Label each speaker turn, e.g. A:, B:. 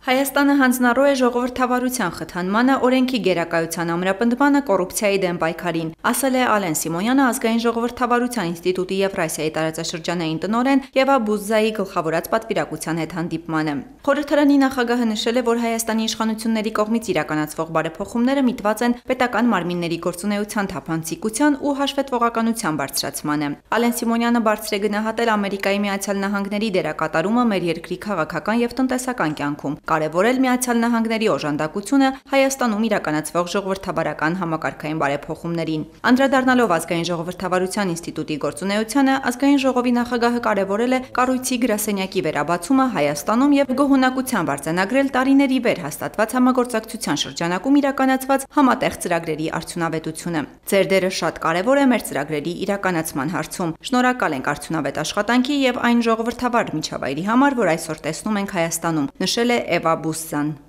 A: Հայաստանը հանձնառու է ժողովրդավարության խթանմանը, օրենքի գերակայության ամրապնդմանը, կոռուպցիայի դեմ պայքարին, ասել է Ալեն Սիմոնյանը Ազգային ժողովրդավարության ինստիտուտի Եվրասիայի տարածաշրջանային տնօրեն Եվա Բուզզայի գլխավորած պատվիրակության հետ հանդիպմանը։ Խորհրդարանի նախագահը նշել է, որ Հայաստանի իշխանությունների կողմից իրականացվող բարեփոխումները միտված են պետական մարմինների գործունեության թափանցիկության ու հաշվետվողականության բարձրացմանը։ Ալեն Սիմոնյանը բարձր է գնահատել Ամերիկայի Միացյալ Նահանգների դերակատարումը մեր երկրի քաղաքական եւ տնտեսական կյանքում, կարևորել Միացյալ Նահանգների օժանդակությունը Հայաստանում իրականացվող ժողովրդավարական համակարգային բարեփոխումներին։ Անդրադառնալով Ազգային ժողովրդավարության ինստիտուտի գործունեությանը, Ազգային ժողովի նախագահը կարևորել է կառույցի գրասենյակի վերաբացումը Հայաստանում եւ գոհունակությամբ արձանագրել տարիների վեր հաստատված համագործակցության շրջանակում իրականացված համատեղ ծրագրերի արդյունավետությունը։ Ձեր դերը շատ կարևոր է մեր ծրագրերի իրականացման հարցում։ Շնորհակալ ենք արդյունավետ աշխատանքի եւ այն ժողովրդավար միջավայրի համար, որ այսօր տեսնում ենք Հայաստանում, նշել է Եվա Բուզզան։